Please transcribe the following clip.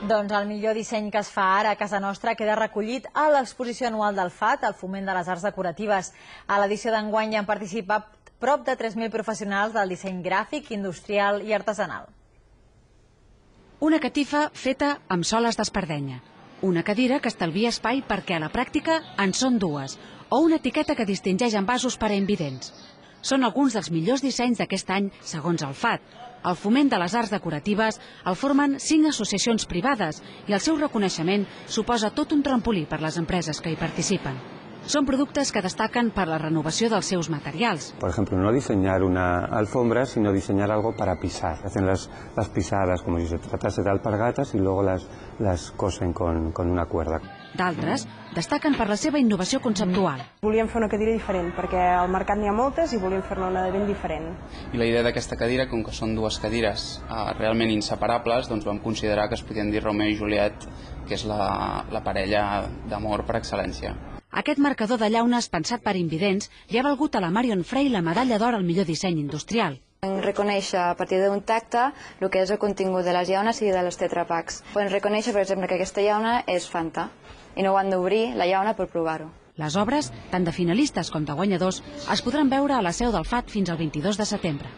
Doncs el millor disseny que es fa ara a casa nostra queda recollit a l'exposició anual del FAT, el Foment de les Arts Decoratives. A l'edició d'enguany hi han participat prop de 3.000 professionals del disseny gràfic, industrial i artesanal. Una catifa feta amb soles d'espardenya. Una cadira que estalvia espai perquè a la pràctica en són dues. O una etiqueta que distingeix envasos per a invidents. Són alguns dels millors dissenys d'aquest any, segons el FAT. El Foment de les Arts Decoratives el formen 5 associacions privades i el seu reconeixement suposa tot un trampolí per les empreses que hi participen. Son productes que destaquen per la renovació dels seus materials. Por ejemplo, no diseñar una alfombra, sino diseñar algo para pisar. Hacen las pisadas como si se tratase de alpargatas y luego las cosen con una cuerda. D'altres destaquen per la seva innovació conceptual. Volíem fer una cadira diferent, perquè al mercat n'hi ha moltes i volíem fer-ne una de ben diferent. I la idea d'aquesta cadira, com que són dues cadires realment inseparables, doncs vam considerar que es podien dir Romeo i Juliet, que és la parella d'amor per excel·lència. Aquest marcador de llaunes pensat per invidents li ha valgut a la Marion Frey la medalla d'or al millor disseny industrial. Reconèixer a partir d'un tacte el que és el contingut de les llaunes i de les tetrapacks. Podem reconèixer, per exemple, que aquesta llauna és Fanta i no ho han d'obrir la llauna per provar-ho. Les obres, tant de finalistes com de guanyadors, es podran veure a la seu del FAT fins al 22 de setembre.